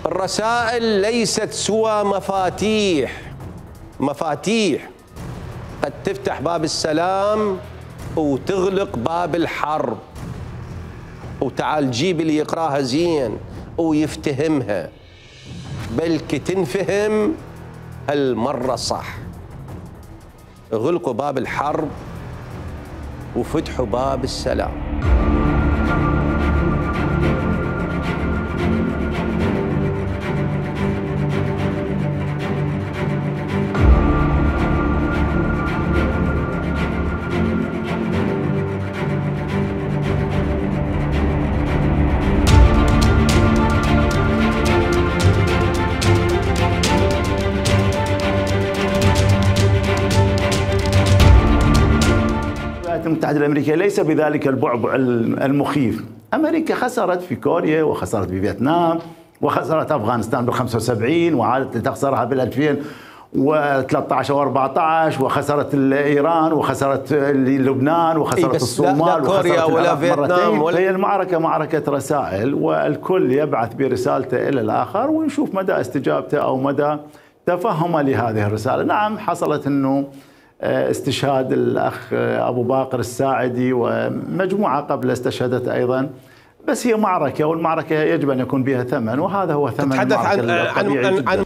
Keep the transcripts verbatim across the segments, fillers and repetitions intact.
الرسائل ليست سوى مفاتيح مفاتيح قد تفتح باب السلام وتغلق باب الحرب. وتعال جيب اللي يقراها زين ويفتهمها، بلكي تنفهم هالمرة صح. اغلقوا باب الحرب وفتحوا باب السلام. الولايات المتحدة الأمريكية ليس بذلك البعبع المخيف. أمريكا خسرت في كوريا وخسرت في فيتنام وخسرت أفغانستان بال خمسة وسبعين وعادت لتخسرها بال ألفين وثلاثة عشر وأربعة عشر وخسرت إيران وخسرت لبنان وخسرت الصومال كوريا ولا فيتنام ولا. هي المعركة معركة رسائل، والكل يبعث برسالته إلى الآخر ويشوف مدى استجابته أو مدى تفهمه لهذه الرسالة. نعم حصلت أنه استشهاد الأخ أبو باقر الساعدي ومجموعة قبل استشهدت أيضا، بس هي معركة والمعركة يجب أن يكون بها ثمن، وهذا هو ثمن تتحدث المعركة عن الطبيعي عن, جداً. عن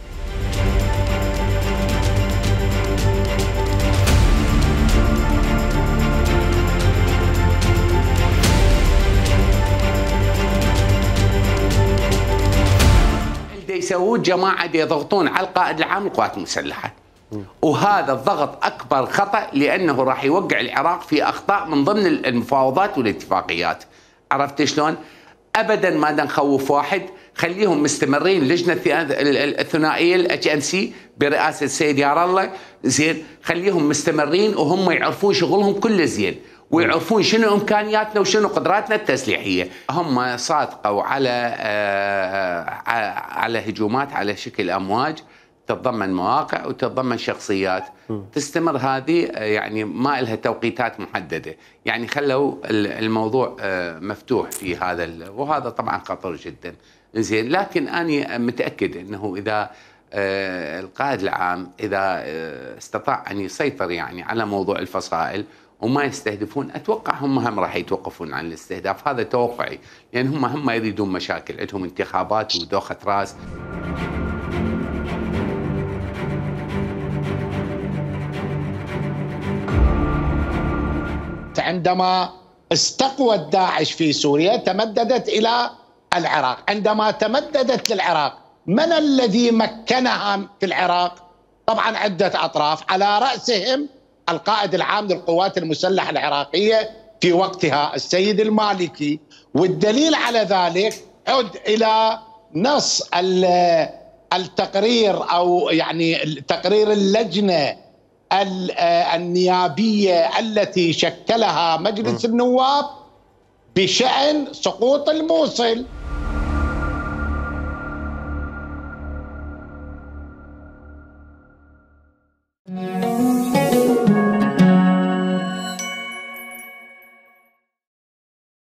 يسوون جماعة يضغطون على القائد العام للقوات المسلحة، وهذا الضغط أكبر خطأ لأنه راح يوقع العراق في أخطاء من ضمن المفاوضات والاتفاقيات. عرفت شلون؟ أبدا ما نخوف واحد، خليهم مستمرين. اللجنة الثنائية الاتش ان سي برئاسة السيد يار الله زين، خليهم مستمرين وهم يعرفون شغلهم كله زين، ويعرفون شنو امكانياتنا وشنو قدراتنا التسليحيه. هم صادقوا على على هجومات على شكل امواج تتضمن مواقع وتتضمن شخصيات. تستمر هذه يعني ما لها توقيتات محدده، يعني خلوا الموضوع مفتوح في هذا، وهذا طبعا خطر جدا زين. لكن انا متاكد انه اذا القائد العام اذا استطاع ان يسيطر يعني على موضوع الفصائل وما يستهدفون، اتوقع هم هم راح يتوقفون عن الاستهداف. هذا توقعي، لان هم هم ما يريدون مشاكل، عندهم انتخابات ودوخه راس. عندما استقوت داعش في سوريا تمددت الى العراق، عندما تمددت للعراق من الذي مكنها في العراق؟ طبعا عده اطراف، على راسهم القائد العام للقوات المسلحة العراقية في وقتها السيد المالكي. والدليل على ذلك عد إلى نص التقرير أو يعني تقرير اللجنة النيابية التي شكلها مجلس النواب بشأن سقوط الموصل.